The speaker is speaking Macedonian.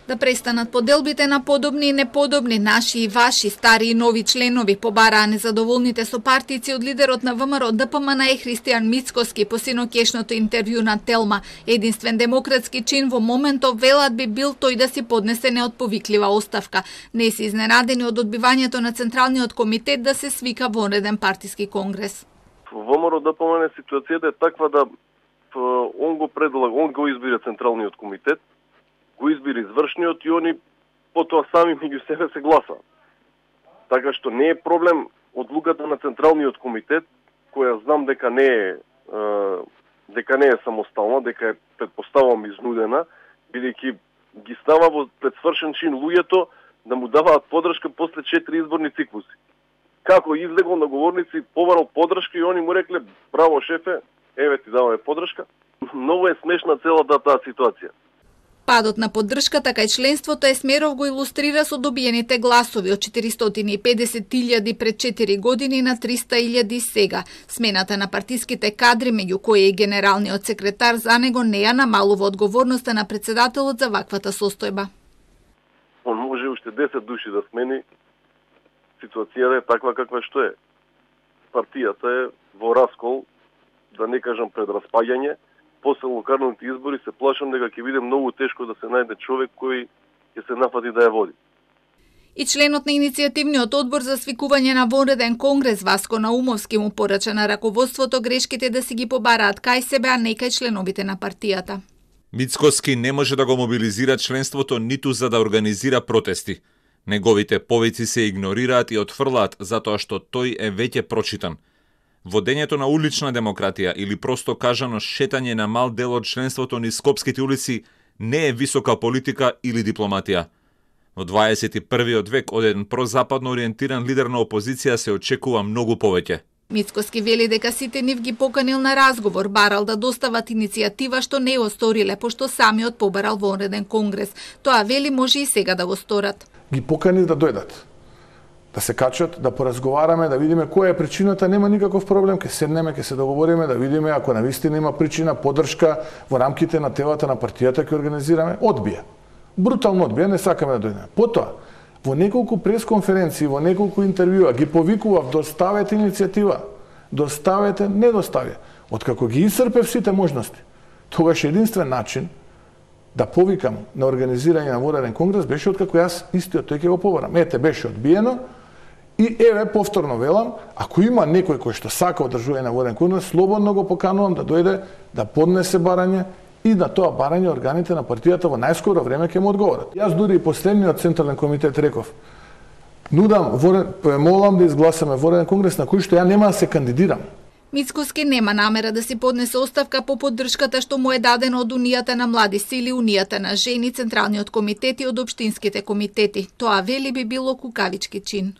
Да престанат поделбите на подобни и неподобни, наши и ваши, стари и нови членови, побараа незадоволните со партици од лидерот на ВМРО ДПМН Христијан Мицкоски по синокешното интервју на Телма. Единствен демократски чин во моментов велат би бил тој да си поднесе неотповиклива оставка. Не се изненадени од одбивањето на Централниот комитет да се свика вонреден партиски конгрес. Во ВМРО ДПМН ситуацијата е таква да он го избира Централниот комитет, го избира извршниот и они потоа сами меѓу себе се гласаат. Така што не е проблем одлуката на Централниот комитет, која знам дека не е самостална, дека е предпоставам изнудена, бидејќи ги става во предсвршен чин луѓето да му даваат подршка после 4 изборни циклуси. Како излегол на говорници, побарал подршка и они му рекле: "Браво шефе, еве ти даваме подршка." Многу е смешна целата таа ситуација. Падот на поддршката кај членството Есмеров го илустрира со добиените гласови од 450.000 пред 4 години на 300.000 сега. Смената на партиските кадри, меѓу кои и генералниот секретар, за него не ја намалува одговорноста на председателот за ваквата состојба. Он може уште 10 души да смени. Ситуацијата е таква каква што е. Партијата е во раскол, да не кажам пред распаѓање. После локалните избори се плашам дека ќе биде многу тешко да се најде човек кој ќе се нафати да ја води. И членот на иницијативниот одбор за свикување на вонреден конгрес Васко Наумовски му порача на раководството грешките да си ги побараат кај себе, а не кај членовите на партијата. Мицкоски не може да го мобилизира членството ниту за да организира протести. Неговите повици се игнорираат и отфрлаат затоа што тој е веќе прочитан. Водењето на улична демократија или просто кажано шетање на мал дел од членството низ скопските улици не е висока политика или дипломатија. Во 21. век од еден прозападно ориентиран лидер на опозиција се очекува многу повеќе. Мицкоски вели дека сите нив ги поканил на разговор, барал да достават иницијатива што не го сториле, пошто самиот побарал вонреден конгрес. Тоа вели може и сега да го сторат. Ги покани да дојдат, да се качат, да поразговараме, да видиме која е причината, нема никаков проблем, ќе седнеме, ќе се договориме, да видиме ако навистина има причина, поддршка во рамките на телата на партијата ќе организираме. Одбија. Брутално одбија, не сакаме да дојдеме. Потоа, во неколку пресконференции, во неколку интервјуа ги повикував: доставете иницијатива, доставете, не достави. Откако ги исцрпев сите можности, тогаш единствен начин да повикам на организирање на вонреден конгрес беше откако јас истиот тој ќе го побарам. Ете, беше одбиено и еве повторно велам, ако има некој кој што сака одржување на вонреден конгрес, слободно го поканувам да дојде да поднесе барање и на тоа барање органите на партијата во најскоро време ќе му одговорат. Јас дури и последниот Централен комитет реков: нудам, молам да изгласаме вонреден конгрес на кој што ја нема да се кандидирам. Мицкоски нема намера да си поднесе оставка по поддршката што му е дадена од Унијата на млади сили, Унијата на жени, Централниот комитет и од општинските комитети. Тоа вели би било кукавички чин.